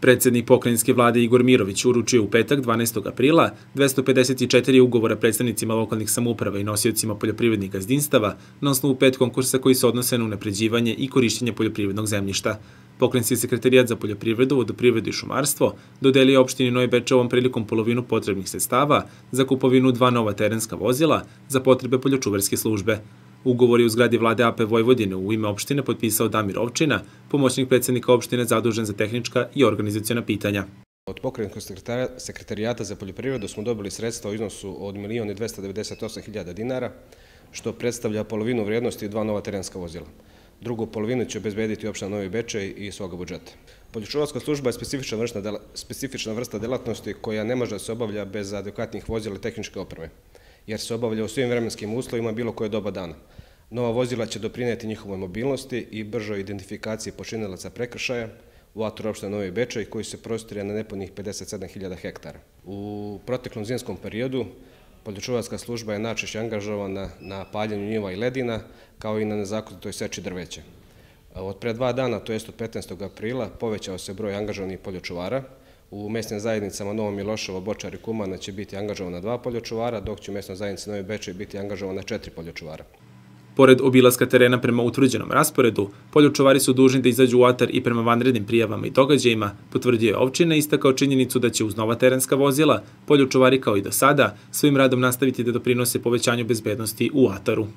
Predsjednik pokrajinske vlade Igor Mirović uručio u petak 12. aprila 254 ugovora predstavnicima lokalnih samouprava i nosiocima poljoprivrednih gazdinstava na osnovu 5 konkursa koji se odnose na unapređivanje i korišćenje poljoprivrednog zemljišta. Pokrajinski sekretarijat za poljoprivredu, vodoprivredu i šumarstvo dodelio opštini Novi Bečej ovom prilikom polovinu potrebnih sredstava za kupovinu 2 nova terenska vozila za potrebe poljočuvarske službe. Ugovor je u zgradi vlade AP Vojvodine u ime opštine potpisao Damir Ovčina, pomoćnik predsjednika opštine zadužen za tehnička i organizaciona pitanja. Od pokrajinskog sekretarijata za poljoprivredu smo dobili sredstva u iznosu od 1.298.000 dinara, što predstavlja polovinu vrijednosti 2 nova terenska vozila. Drugu polovinu će obezbediti opština Novi Bečej iz svoga budžeta. Poljočuvarska služba je specifična vrsta delatnosti koja ne može da se obavlja bez adekvatnih vozila i tehničke opreme, jer se obavlja u svim vremenskim uslovima bilo koje doba dana. Nova vozila će doprinijeti njihovoj mobilnosti i bržoj identifikaciji počinilaca prekršaja u atoru opštine Novi Bečej koji se prostire na nepunih 57.000 hektara. U proteklom zimskom periodu poljočuvarska služba je najčešće angažovana na paljenju njiva i ledina, kao i na nezakonitoj seči drveća. Od pre 2 dana, to jest od 15. aprila, povećao se broj angažovanih poljočuvara. U mesnim zajednicama Novo Miloševo, Bočar i Kumana će biti angažovana 2 poljočuvara, dok će u mesnoj zajednici Novi Bečej biti angažovana 4 poljočuvara. Pored obilaska terena prema utvrđenom rasporedu, poljočuvari su dužni da izađu u atar i prema vanrednim prijavama i događajima, potvrdio je opština i istakao činjenicu da će uz nova terenska vozila poljočuvari kao i do sada svojim radom nastaviti da doprinose povećanju bezbednosti u ataru.